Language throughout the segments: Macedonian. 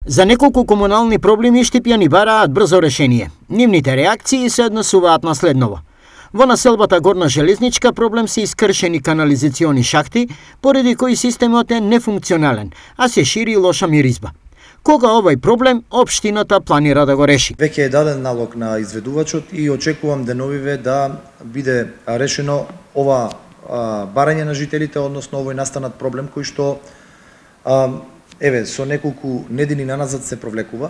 За неколку комунални проблеми штипјани бараат брзо решение. Нивните реакции се однесуваат на следново. Во населбата Горна Железничка проблем се искршени канализациони шахти, поради кои системот е нефункционален, а се шири лоша миризба. Кога овој проблем општината планира да го реши? Веќе е даден налог на изведувачот и очекувам деновиве да биде решено ова барање на жителите, односно овој настанат проблем кој што со неколку недели наназад се провлекува.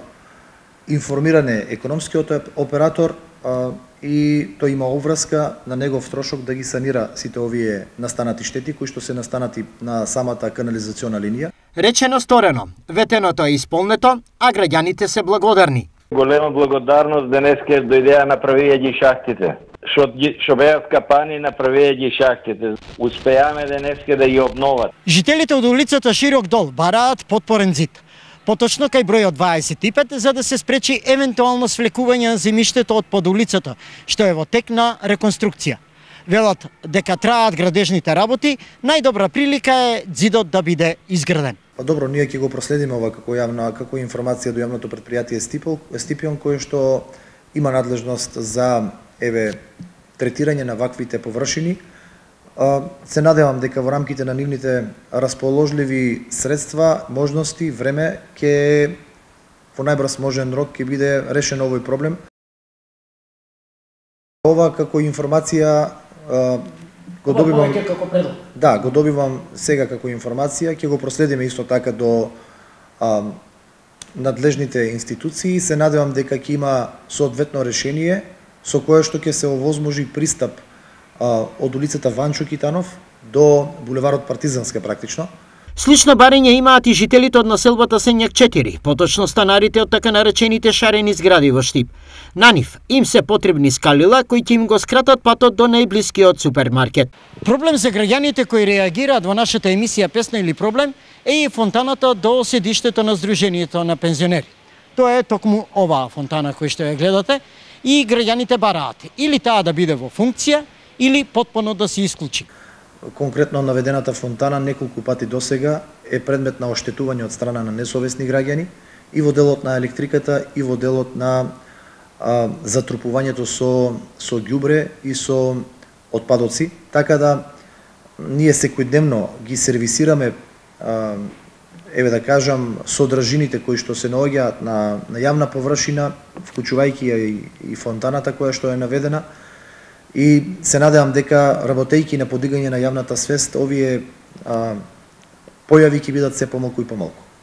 Информиран е економскиот оператор и тој има обврска на негов трошок да ги санира сите овие настанати штети кои што се настанати на самата канализациона линија. Речено сторено, ветеното е исполнето, а граѓаните се благодарни. Голема благодарност денеска дојдеа направија ги шахтите. Што беа скапани, направија ги шахтите. Успеаме денеска да ги обноват. Жителите од улицата Широк дол бараат потпорен зид. Поточно кај бројот 25, за да се спречи евентуално свлекување на земјиштето од под улицата, што е во тек на реконструкција. Велат дека траат градежните работи, најдобра прилика е зидот да биде изграден. Па добро, ние ќе го проследиме ова како информација до јавното претпријатие Стипион, кое што има надлежност за третирање на ваквите површини. Се надевам дека во рамките на нивните расположливи средства, можности, време ќе во најбрз можен рок ќе биде решен овој проблем. Ова како информација го добивам како предлог. Да, го добивам сега како информација, ќе го проследиме исто така до надлежните институции. Се надевам дека ќе има соодветно решение со кое што ќе се овозможи пристап од улицата Ванчо Китанов до булеварот Партизанска практично. Слично барање имаат и жителите од населбата Сенјак 4, поточно станарите од така наречените шарени згради во Штип. На нив им се потребни скалила кои ќе им го скратат патот до најблискиот супермаркет. Проблем за граѓаните кои реагираат во нашата емисија Песна или проблем е и фонтаната до седиштето на Сдруженијето на пензионери. Тоа е токму оваа фонтана која што ја гледате и граѓаните бараат или таа да биде во функција или потпуно да се исклучи. Конкретно наведената фонтана неколку пати досега е предмет на оштетување од страна на несовесни граѓани и во делот на електриката и во делот на затрупувањето со ѓубре и со отпадоци. Така да ние секојдневно ги сервисираме да кажам содржините кои што се наоѓаат на јавна површина, вклучувајќи и фонтаната која што е наведена. И се надевам дека работејќи на подигање на јавната свест, овие појави ќе бидат се помалку и помалку.